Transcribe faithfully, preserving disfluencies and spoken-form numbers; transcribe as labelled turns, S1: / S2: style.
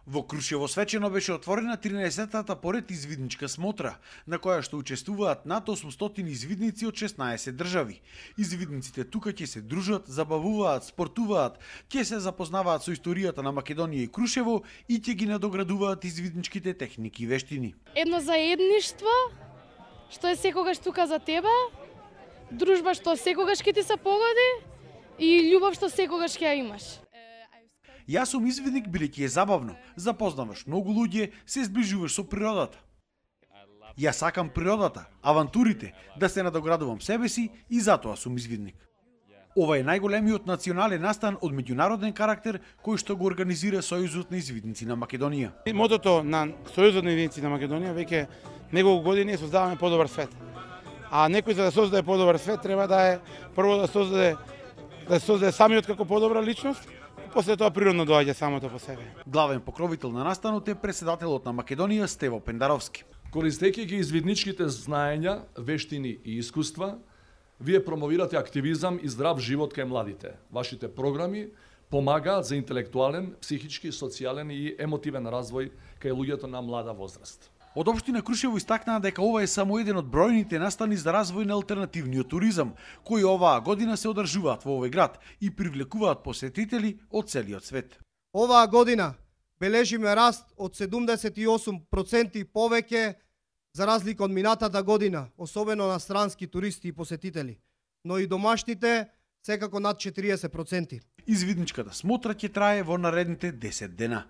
S1: Во Крушево свечено беше отворена тринаесеттата поред извидничка смотра, на која што учествуваат над осумстотини извидници од шеснаесет држави. Извидниците тука ќе се дружат, забавуваат, спортуваат, ќе се запознаваат со историјата на Македонија и Крушево и ќе ги надоградуваат извидничките техники и вештини.
S2: Едно заедништво, што е секогаш тука за тебе, дружба што секогаш ќе ти се погоди и љубов што секогаш ќе ја имаш.
S1: Јас сум извидник бидејќи е забавно, запознаваш многу луѓе, се зближуваш со природата. Јас сакам природата, авантурите, да се надоградувам себе си и затоа сум извидник. Ова е најголемиот национален настан од меѓународен карактер кој што го организира Сојузот на извидници на Македонија.
S3: Мотото на Сојузот на извидници на Македонија веќе неколку години создаваме подобар свет. А некој за да создаде подобар свет треба да е прво да создаде да создаде самиот како подобра личност, после тоа природно доаѓа самото по себе.
S1: Главен покровител на настанот е председателот на Македонија Стево Пендаровски.
S4: Користејќи ги извидничките знаења, вештини и искуства, вие промовирате активизам и здрав живот кај младите. Вашите програми помагаат за интелектуален, психички, социјален и емотивен развој кај луѓето на млада возраст.
S1: Од општина Крушево истакнаа дека ова е само еден од бројните настани за развој на алтернативниот туризам, кои оваа година се одржуваат во овој град и привлекуваат посетители од целиот свет.
S5: Оваа година бележиме раст од седумдесет и осум проценти повеќе за разлика од минатата година, особено на странски туристи и посетители, но и домашните секако над четириесет проценти.
S1: Извидничката смотра ќе трае во наредните десет дена.